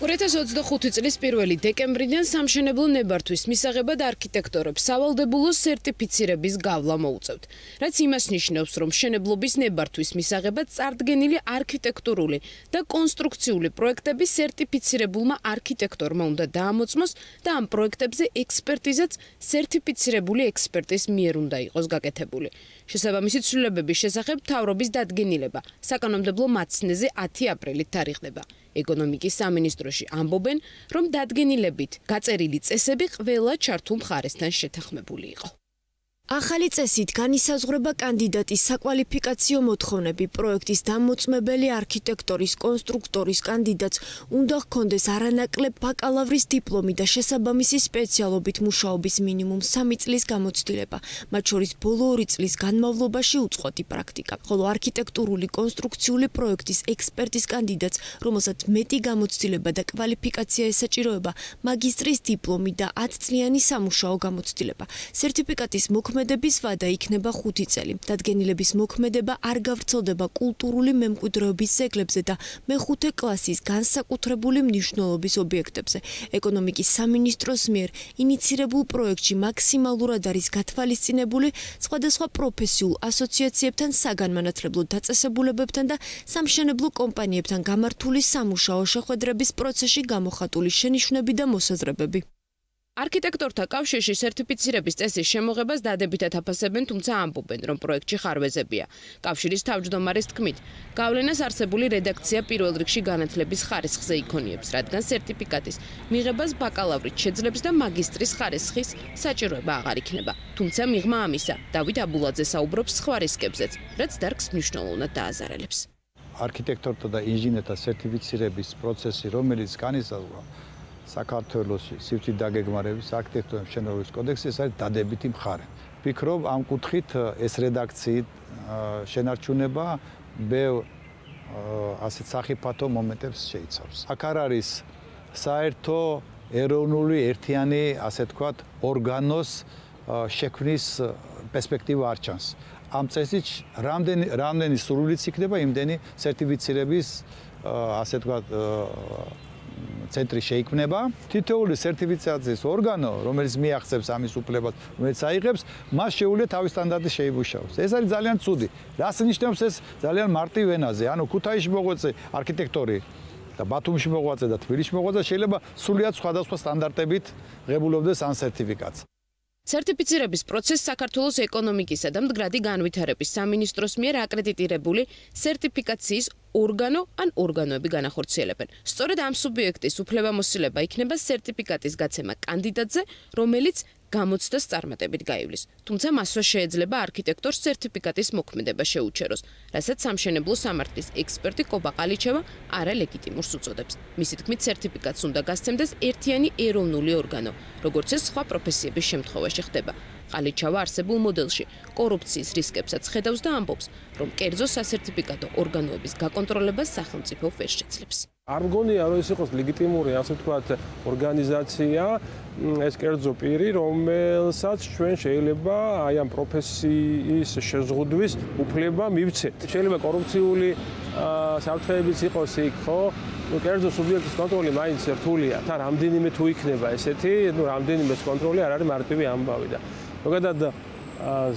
2025 წლის 1 დეკემბრიდან სამშენებლო ნებართვის მისაღებად არქიტექტორებს სავალდებულო სერტიფიცირების გავლა მოუწევთ. რაც იმას ნიშნავს, რომ მშენებლობის ნებართვის მისაღებად წარდგენილი არქიტექტურული და კონსტრუქციული პროექტები სერტიფიცირებულმა არქიტექტორმა უნდა დაამოწმოს და ამ პროექტებზე ექსპერტიზაც სერტიფიცირებული ექსპერტის მიერ უნდა იყოს გაკეთებული. შესაბამისი ცვლილებების შესახებ მთავრობის დადგენილება საკანონმდებლო მაცნეზე 10 აპრილით თარიღდება. ეკონომიკის სამინისტროში ამბობენ, რომ დადგენილებით გაწერილი წესები ყველა ჩართულ მხარესთან შეთანხმებული იყო. ახალი წესით განისაზღვრება კანდიდატის საკვალიფიკაციო მოთხოვნები პროექტის დამოწმებელი არქიტექტორის კონსტრუქტორის კანდიდატს უნდა ჰქონდეს არანაკლებ ბაკალავრის დიპლომი და შესაბამისი სპეციალობით მუშაობის მინიმუმ 3 წლის გამოცდილება, მათ შორის ბოლო 2 წლის განმავლობაში უწყვეტი პრაქტიკა. ხოლო არქიტექტურული კონსტრუქციული პროექტის ექსპერტის კანდიდატს, რომელსაც მეტი გამოცდილება და კვალიფიკაცია ესაჭიროება, მაგისტრის დიპლომი და 10 წლიანი სამუშაო გამოცდილება. სერტიფიკატის მოქმედების ვადა იქნება 5 წელი. დადგენილების მოქმედება არ გავრცელდება კულტურული მემკვიდრეობის ძეგლებზე და მეხუთე კლასის განსაკუთრებული მნიშვნელობის ობიექტებზე. ეკონომიკის სამინისტროს მიერ ინიცირებულ პროექტში მაქსიმალურად არის გათვალისწინებული სხვადასხვა პროფესიულ ასოციაციებთან, საგანმანათლებლო დაწესებულებებთან და სამშენებლო კომპანიებთან გამართული სამუშაო შეხვედრების პროცესში გამოხატული შენიშვნები და მოსაზრებები. არქიტექტორთა კავშირში სერტიფიცირების წესის შემოღებას დადებითად აფასებენ, თუმცა ამბობენ, რომ პროექტში ხარვეზებია. კავშირის თავმჯდომარის თქმით, გავლენას არსებული რედაქცია პირველ რიგში განათლების ხარისხზე იქონიებს, რადგან სერტიფიკატის მიღებას ბაკალავრით შეძლებს და მაგისტრის ხარისხის საჭიროება აღარ იქნება. თუმცა მიღმა ამისა, დავით აბულაძე საუბრობს სხვა რისკებზეც, რაც დარგს მნიშვნელოვნად დააზარალებს. არქიტექტორთა და ინჟინერთა სერტიფიცირების პროცესი, რომელიც განისაზღვრა საქართველოში სივრცით დაგეგმარების არქიტექტურული მშენებლობის კოდექსი, ეს არის დადებითი მხარე. ვფიქრობ, ამ კუთხით ეს რედაქციით შენარჩუნება ბევრ ასეთ სახიფათო მომენტებს შეიცავს. აქ არ არის საერთო ეროვნული ერთიანი, ასე თქვათ, ორგანოს შექმნის პერსპექტივა არ ჩანს. ამ წესით რამდენი სრულიც იქნება, იმდენი სერტიფიცირების, ასე თქვათ, ცენტრი შეიქმნება. თითოეული სერტიფიცირების ორგანო, რომელიც მიაღწევს ამის უფლებას, რომელიც აიღებს, მას შეუძლია თავის სტანდარტი შეიმუშაოს. ეს არის ძალიან ცუდი. რას ნიშნავს ეს ძალიან მარტივ ენაზე? ანუ ქუთაისში მოღვაწე არქიტექტორი და ბათუმში მოღვაწე და თბილისში მოღვაწე შეიძლება სრულიად სხვადასხვა სტანდარტებით ღებულობდეს ამ სერტიფიკატს. სერტიფიცირების პროცესს საქართველოს ეკონომიკისა და მდგრადი განვითარების სამინისტროს მიერ აკრედიტირებული სერტიფიკაციის ორგანო ან ორგანოები განახორციელებენ. სწორედ ამ სუბიექტის უფლებამოსილება იქნება სერტიფიკატის გაცემა კანდიდატზე, რომელიც გამოცდას წარმატებით გაივლის. თუმცა მასვე შეეძლება არქიტექტორს სერტიფიკატის მოქმედება შეუჩეროს, რასაც სამშენებლო სამართლის ექსპერტი კობა ყალიჩევა არალეგიტიმურს უწოდებს. მისი თქმით, სერტიფიკატს უნდა გასცემდეს ერთიანი ეროვნული ორგანო, როგორც ეს სხვა პროფესიების შემთხვევაში ხდება. ყალიჩევა არსებულ მოდელში კორუფციის რისკებსაც ხედავს და ამბობს, რომ კერძო სასერტიფიკატო ორგანოების გაკონტროლებას სახელმწიფო ვერ შეძლებს. არ მგონია, რომ ეს იყოს ლეგიტიმური, ასე ვთქვათ, ორგანიზაცია, ეს კერძო პირი, რომელსაც ჩვენ შეიძლება აი ამ პროფესიის შეზღუდვის უფლება მივცეთ. შეიძლება კორუფციული საფრთხეებიც იყოს იქ, ხო? კერძო სუბიექტის კონტროლი მაინც რთულია. თან რამდენიმე თუ იქნება ესეთი, რამდენიმე კონტროლი არ არის მარტივი ამბავი და ზოგადად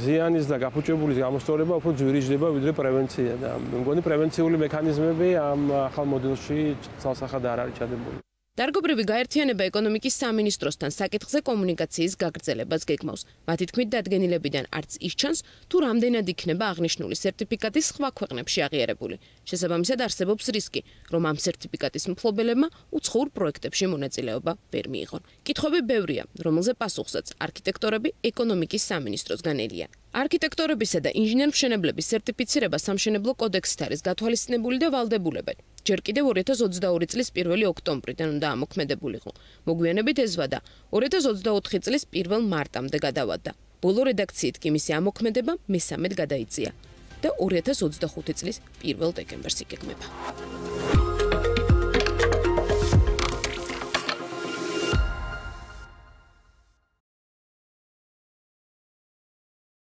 ზიანის და გაფუჭებულის გამოსწორება უფრო ძვირიჯდება ვიდრე პრევენცია და მგონი პრევენციული მექანიზმები ამ ახალ მოდელში ცალსახად არ არის ჩადებული. დარგობრივი გაერთიანება ეკონომიკის სამინისტროსთან საკითხზე კომუნიკაციის გაგრძელებას გეგმავს. მათი თქმით, დადგენილებიდან არც ის ჩანს, თუ რამდენად იქნება აღნიშნული სერტიფიკატის სხვა ქვეყნებში აღიარებული. შესაბამისად არსებობს რისკი, რომ ამ სერტიფიკატის მფლობელებმა უცხოურ პროექტებში მონაწილეობა ვერ მიიღონ. კითხვები ბევრია, რომელზე პასუხსაც არქიტექტორები ეკონომიკის სამინისტროსგან ელიან. არქიტექტორებისა და ინჟინერ-მშენებლების სერტიფიცირება სამშენებლო კოდექსით არის გათვალისწინებული და ვალდებულებენ. ჯერ კიდევ 2022 წლის 1 ოქტომბრიდან უნდა ამოქმედებულიყო. მოგვიანებით ეს ვადა 2024 წლის 1 მარტამდე გადავადა. ბოლო რედაქციით კი მისი ამოქმედება მე-13 გადაიწია და 2025 წლის 1 დეკემბერს იგეგმება.